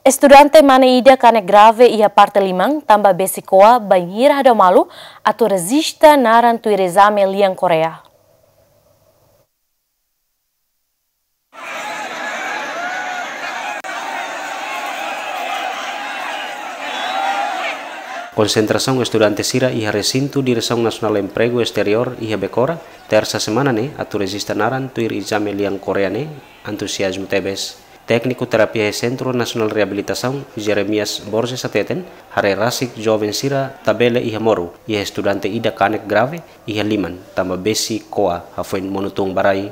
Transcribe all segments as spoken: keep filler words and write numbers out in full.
Estudante mane ida kanek grave iha parte liman, tanba besik ko'a, bainhira hadau malu atu rejista naran tuir ezame lian Koreia. Konsentrasaun estudante sira iha resintu Diresaun Nasionál Empregu Esteriór iha Becora, Tersa semana ne'e, atu rejista naran tuir ezame lian Koreia ne'e, antuziazmu tebes. Tékniku terapia iha Sentru Nasionál Reabilitasaun, Jeremias Borges hateten, haree rasik joven sira tabele iha moru, iha estudante ida kanek grave iha liman, tanba besik ko'a, hafoin monu tun ba rai.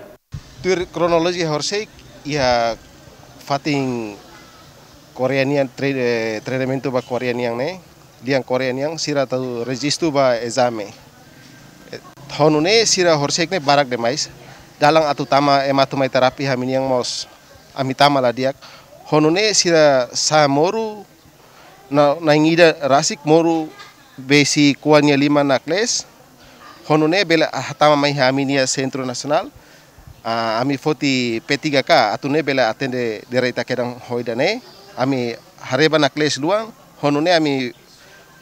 Tuir kronolojia horisehik, iha fatin Koreia nian tre-, eh, treinamentu ba Koreia nian ne'e, lian Koreia nian sira atu rejistu ba ezame. Eh, ho nune'e sira horisehik ne'e barak demais. Dalan atu tama ema atu mai terapia ami-nian mós, ami tama la di'ak. Ho nune'e sira sa'e moru, na, na'in ida rasik moru besik ko'a nia liman naklees. Ho nune'e bele hatama mai iha ami-nia Sentru Nasionál. Ah, ami foti P tiga K, atu nune'e bele atende direta kedan ho ida-ne'e. Ami haree ba naklees luan, ho nune'e ami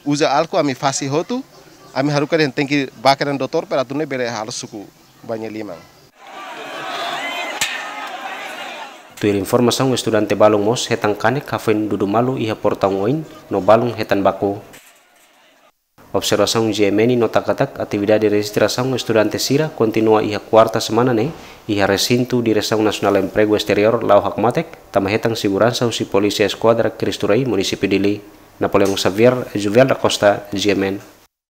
uza álkol, ami fase hotu, ami haruka dehan tenke bá kedan doutór para atu nune'e bele halo suku ba nia liman. Tuir informasaun, estudante balun mós hetan kanek hafoin dudu malu iha portaun oin, no balun hetan baku. Observasaun G M N nota katak, atividade rejistrasaun estudante sira kontinua iha kuarta semana ne'e, iha resintu Diresaun Nasionál Empregu Esteriór, la'o hakmatek, tanba hetan seguransa husi Polísia Eskuadra Cristo Rei, Munisípiu Dili. Napoleão Xavier, Juvel da Costa, G M N.